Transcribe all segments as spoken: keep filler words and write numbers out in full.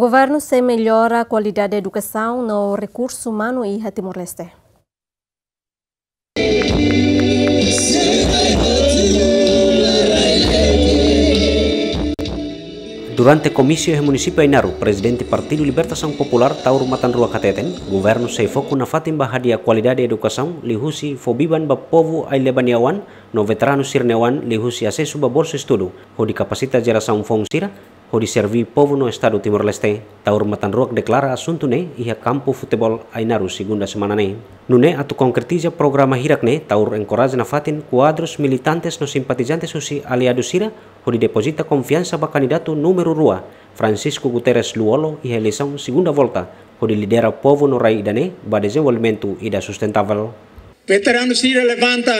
Governu sei mellora kualidade edukasaun no rekursu umanu iha Timor-Leste. Durante komísiu iha munisípiu Ainaro, Prezidente Partidu Libertasaun Populár, Taur Matan Ruak hateten, governu sei foku nafatin ba hadi'a kualidade edukasaun, liuhusi fó biban ba povu ai-leba nia oan, no veteranu sira-nia oan, liuhusi asesu ba bolsu estudu, hodi kapasita jerasaun foun sira, hodi serví povu no Estadu Timor-Leste. Taur Matan Ruak deklara asuntu ne'e iha kampu futeból Ainaro, segunda semana ne'e. Nune'e atu konkretiza programa hirak ne'e, Taur enkoraja nafatin kuadrus, militantes no simpatizantes husi aliadu sira, hodi depozita konfiansa ba kandidatu númeru rua, Francisco Guterres Lú-Olo, iha eleisaun segunda volta, hodi lidera povu no rai ida-ne'e ba dezenvolvimentu ida sustentavel. Veteranu sira levanta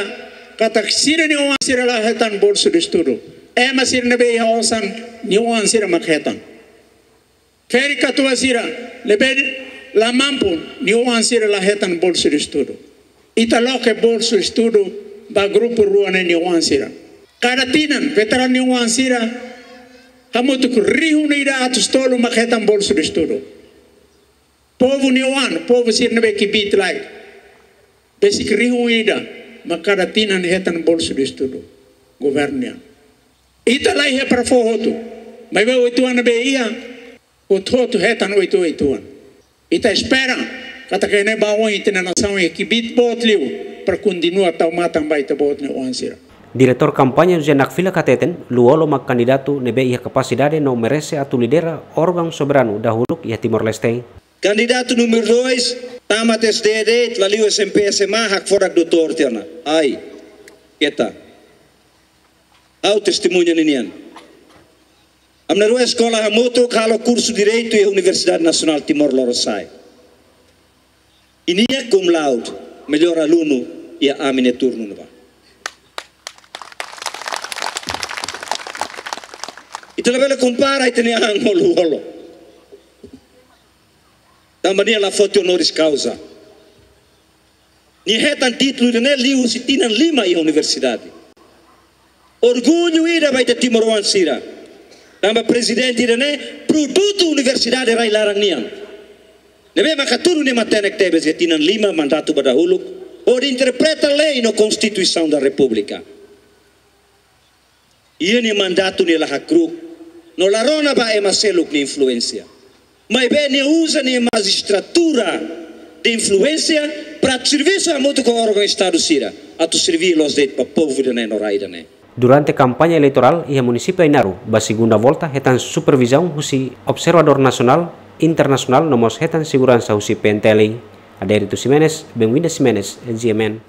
katak sira-nia oan sira la hetan bolsu de estudu. Ema sira ne'ebé iha osan, nia oan sira mak hetan. Ferik-katuas sira ne'ebé la mampu, nia oan sira la hetan bolsu de estudu. Ita loke bolsu estudu ba grupu rua ne'e nia oan sira. Kada tinan, veteranu nia oan sira hamutuk rihun ida atus tolu mak hetan bolsu de estudu. Povu nia oan, povu sira ne'ebé kbiit lai. Besik rihun ida mak kada tinan hetan bolsu de estudu governu nian. Ita la iha para fó hotu, maibé oituan ne'ebé iha, hotu-hotu hetan oituan-oituan. Ita espera katak iha ne'e ba oin ita-nia nasaun iha kbiit boot liu para kontinua tau matan ba ita-boot nia oan sira. Diretór kampaña José Nakfilak hateten, Lú-Olo mak kandidatu ne'ebé iha kapasidade no merese atu lidera órgaun soberanu dahuluk iha Timor-Leste. Kandidatu númeru dois, tamat S D de'it, la liu S M P, S M A, hakfodak doutór tiha ona. Ai, keta. Ha'u testemuña ninian. Ami na'in-rua eskola hamutuk, halo kursu Direitu iha Universidade Nasionál Timor Lorosa'e. I nia cum laude, mellór alunu iha ami-nia turnu ne'ebá. Ita labele kompara ita-nia an ho Lú-Olo. Tanba nia la foti honoris causa. Nia hetan títulu ida-ne'e liuhusi tinan lima iha universidade. Orgullu ida ba ita timoroan sira. Tanba prezidente ida-ne'e produtu universidade rai-laran nian. Ne'ebé mak hatudu nia matenek tebes iha tinan lima mandatu ba dahuluk, hodi interpreta lei no Konstituisaun da Repúblika. Iha nia mandatu nia la hakru'uk, no la rona ba ema seluk nia influénsia. Maibé nia uza nia majistratura de influénsia para atu servisu hamutuk ho órgaun Estadu sira, atu serví loos de'it ba povu ida-ne'e no rai ida-ne'e. Durante kampaña eleitorál iha munisípiu Ainaro, ba segunda volta hetan supervizaun husi observadór nasionál, internasionál, no mós hetan seguransa husi P N T L. Adérito Ximenes, Benvinda Ximenes, G M N.